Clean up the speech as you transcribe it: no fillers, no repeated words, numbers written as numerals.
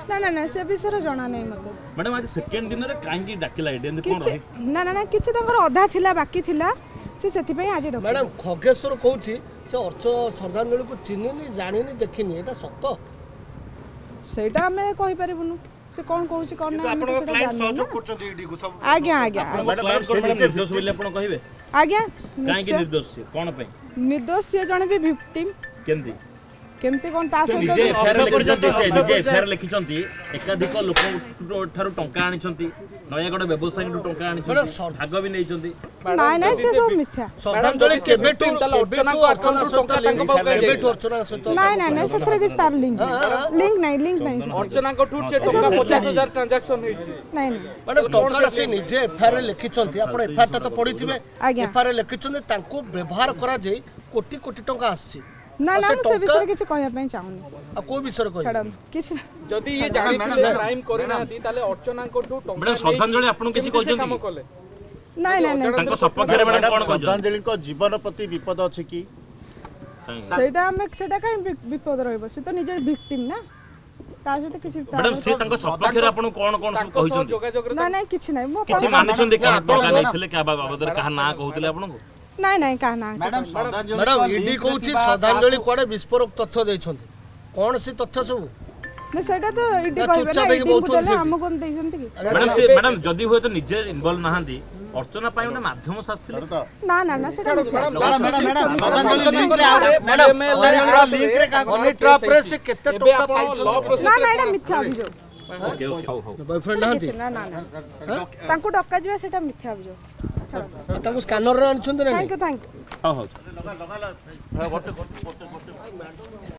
ନା ନା ନା, ସେ ବିଷୟରେ ଜଣା ନାହିଁ ମୋତେ। ମ୍ୟାଡ଼ାମ, ଆଜି ସେକେଣ୍ଡ ଦିନରେ କାହିଁକି ଡାକିଲା ଏଠି, ଏମିତି କଣ କିଛି ରହି? ନା ନା ନା, କିଛି ତାଙ୍କର ଅଧା ଥିଲା, ବାକି ଥିଲା, ସେ ସେଥିପାଇଁ ଆଜି ଡକା। ମ୍ୟାଡ଼ାମ, ଖଗେଶ୍ୱର କହୁଛି ସେ ଅର୍ଚ୍ଚ ଶ୍ରଦ୍ଧାଞ୍ଜଳିକୁ ଚିହ୍ନିନି, ଜାଣିନି, ଦେଖିନି, ଏଇଟା ସତ? ସେଇଟା ଆମେ କହିପାରିବୁନୁ, ସେ କ'ଣ କହୁଛି କ'ଣ କିନ୍ତୁ ନାହିଁ, ଆମେ ତ ଆପଣଙ୍କ ସେଇଟା କ୍ଲାଏଣ୍ଟ ଜାଣିନୁ ସହଯୋଗ ନା। କରୁଛନ୍ତି ଇଡି କୁ ସବୁ? ଆଜ୍ଞା ଆଜ୍ଞା। ଆପଣଙ୍କ କ୍ଲାଏଣ୍ଟ କଣ ମ୍ୟାଡ଼ାମ ନିର୍ଦ୍ଦୋଷ ବୋଲି ଆପଣ କହିବେ? ଆଜ୍ଞା, କାହିଁକି ନିଶ୍ଚୟ ନିର୍ଦ୍ଦୋଷ ସିଏ, କଣ ପାଇଁ ନିର୍ଦ୍ଦୋଷ? ସିଏ ଜଣେ ବି ଭିକ୍ଟିମ୍। କେମିତି? କେମିତି କ'ଣ ତା ସେ ସହିତ ନିଜେ ଏଫଆଇଆର ଅର୍ଥ ଲେଖିଛନ୍ତି, ସେ ପର୍ଯ୍ୟନ୍ତ ନିଜେ ଏଫଆଇଆର ଲେଖିଛନ୍ତି, ଏକାଧିକ ଲୋକଙ୍କ ଠାରୁ ଟଙ୍କା ଆଣିଛନ୍ତି, ନୟାଗଡ଼ ବ୍ୟବସାୟୀଙ୍କଠୁ ଟଙ୍କା ଆଣିଛନ୍ତି, ଭାଗ ବି ନେଇଛନ୍ତି। ନାଇଁ ନାଇଁ, ସେ ସବୁ ମିଥ୍ୟା। ଶ୍ରଦ୍ଧାଞ୍ଜଳି କେବେଠୁ ଅର୍ଚ୍ଚନା ସହିତ ଲିଙ୍କ, କେବେଠୁ ଅର୍ଚ୍ଚନା ସହିତ? ନାଇଁ ନାଇଁ ନାଇଁ, ସେଥିରେ କିଛି ତାର ଲିଙ୍କ ଲିଙ୍କ ନାହିଁ, ଲିଙ୍କ ନାହିଁ ସେଥିରେ। ଅର୍ଚ୍ଚନାଙ୍କଠୁ ସେ ଟଙ୍କା 50,000 ଟ୍ରାଞ୍ଜାକ୍ସନ ହେଇଛି। ନାଇଁ ନାଇଁ। ମ୍ୟାଡ଼ାମ, ଟଙ୍କାଟା ସେ ନିଜେ ଏଫଆଇଆର ଲେଖିଛନ୍ତି, ଆପଣ ଏଫଆଇଆରଟା ତ ପଢିଥିବେ। ଆଜ୍ଞା। ଏଫଆଇଆର ଲେଖିଛନ୍ତି ତାଙ୍କୁ ବ୍ୟବହାର କରାଯାଇ କୋଟି କୋଟି ଟଙ୍କା ଆସିଛି। ନା ଆଉ ନା, ସେ ମୁଁ ସେ ଟଙ୍କା ବିଷୟରେ କିଛି କହିବା ପାଇଁ ଚାହୁଁନି। ଆଉ କୋଉ ବିଷୟରେ କହିବେ? ଛାଡ଼ନ୍ତୁ, କିଛି ଯଦି ଇଏ ଜାଣିଥିଲେ କ୍ରାଇମ କରିନାହାନ୍ତି, ତାହେଲେ ଅର୍ଚ୍ଚନାଙ୍କଠୁ ଟଙ୍କା ମ୍ୟାଡ଼ାମ, ଶ୍ରଦ୍ଧାଞ୍ଜଳି ଆପଣଙ୍କୁ କିଛି କେମିତି ସେ କହିଛନ୍ତି କାମ କି? କଲେ? ନାଇଁ ନାଇଁ ନାଇଁ। ତାଙ୍କ ସପକ୍ଷରେ ମ୍ୟାଡ଼ାମ କଣ କହିଛନ୍ତି? ଶ୍ରଦ୍ଧାଞ୍ଜଳିଙ୍କ ଜୀବନ ପ୍ରତି ବିପଦ ଅଛି କି? ସେଇଟା ଆମେ ସେଇଟା କାହିଁ ବିପଦ ରହିବ? ସେ ତ ନିଜେ ଭିକ୍ଟିମ୍ ନା, ତା ସହିତ କିଛି ମ୍ୟାଡ଼ାମ, ସେ ତାଙ୍କ ସପକ୍ଷରେ ଆପଣଙ୍କୁ କଣ କଣ ସବୁ ତାଙ୍କ ସହ କହିଛନ୍ତି? ଯୋଗାଯୋଗରେ ନାଇଁ ନାଇଁ, କିଛି ନାହିଁ। ମୁଁ କିଛି ଆପଣ ମାନିଛନ୍ତି କାହା ଆପଣ ଟଙ୍କା ନେଇଥିଲେ, କାହା ବାବଦରେ କାହା ନାଁ କହୁଥିଲେ ଆପଣଙ୍କୁ? ନାଇଁ ନାଇଁ, କାହା ନାଁ ସେ ମ୍ୟାଡ଼ାମ, କହିଲେ। ଶ୍ରଦ୍ଧାଞ୍ଜଳିଙ୍କ ମ୍ୟାଡ଼ାମ, ଇଡି ଲିଙ୍କରେ କହୁଛି ଥିବା ଶ୍ରଦ୍ଧାଞ୍ଜଳି କାହାକୁ କୁଆଡ଼େ ବିସ୍ଫୋରକ ତଥ୍ୟ ଦେଇଛନ୍ତି, କ'ଣ ସେ ତଥ୍ୟ ସବୁ? ନା, ସେଇଟା ତ ଇଡି ନା, କହିବେ ନା, ଚୁପଚାପ ହେଇକି ଇଡିଙ୍କୁ ବସୁଛନ୍ତି ଦେଲେ ସେଠି। ଆମକୁ ଦେଇଛନ୍ତି କି? ମ୍ୟାଡ଼ାମ, ସେ ମ୍ୟାଡ଼ାମ ଯଦି ହୁଏତ ନିଜେ ଇନଭଲ୍ଭ ନାହାନ୍ତି, ଅର୍ଚ୍ଚନା ପାଇଁ ଗୋଟେ ମାଧ୍ୟମ ସାଜିଥିଲେ? ତ ନା ନା ନା, ସେଇଟା ମିଥ୍ୟା। ମ୍ୟାଡ଼ାମ ମ୍ୟାଡ଼ାମ ମ୍ୟାଡ଼ାମ, ଶ୍ରଦ୍ଧାଞ୍ଜଳି ଲିଙ୍କରେ ଆଉ ମ୍ୟାଡ଼ାମ, ଶ୍ରଦ୍ଧାଞ୍ଜଳିଙ୍କ ଲିଙ୍କରେ କାହାକୁ ହନି ଟ୍ରାପରେ ସେ କେତେ ଏବେ ଟଙ୍କା ଆପଣ ଲ ପାଇଛନ୍ତି? ନା ନା, ଏଇଟା ମିଥ୍ୟା ଅଭିଯୋଗ। ଓକେ ଓକେ, ହଉ ହଉ। ବୟଫ୍ରେଣ୍ଡ ନାହାନ୍ତି? କିଛି ନା ନା ନା, ତାଙ୍କୁ ଡକାଯିବା ସେଇଟା ମିଥ୍ୟା ଅଭିଯୋଗ। ଛାଡ଼ନ୍ତୁ। ଆଉ ତାଙ୍କୁ ସ୍କାନରରେ ଆଣିଛନ୍ତି ନା ନାଇଁ? Thank you, thank you. ହଉ ହଉ। ଲଗା ଲଗା, ଗୋଟେ ଗୋଟେ ଗୋଟେ ଗୋଟେ।